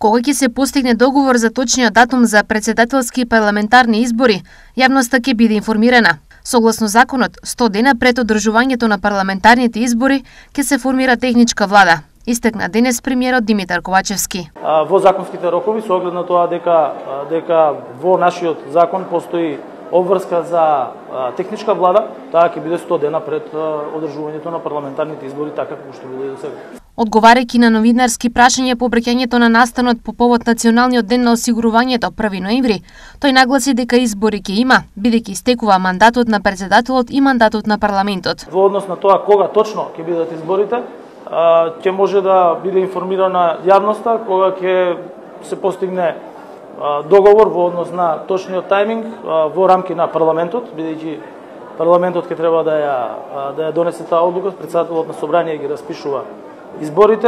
Кога ќе се постигне договор за точниот датум за претседателски и парламентарни избори, јавноста ќе биде информирана. Согласно законот, 100 дена пред одржувањето на парламентарните избори ќе се формира техничка влада, истакна денес премиерот Димитар Ковачевски. Во законските рокови, со оглед на тоа дека во нашиот закон постои обврска за техничка влада, таа ќе биде 100 дена пред одржувањето на парламентарните избори, така како што биде до сега. Одговарајќи на новинарски прашања по обраќањето на настанот по повод Националниот ден на осигурувањето 1 ноември, тој нагласи дека избори ќе има, бидејќи истекува мандатот на претседателот и мандатот на парламентот. Во однос на тоа кога точно ќе бидат изборите, ќе може да биде информирана јавноста кога ќе се постигне договор во однос на точниот тајминг во рамки на парламентот, бидејќи парламентот ќе треба да ја донесе таа одлука, претседателот на собрание ги распишува изборите.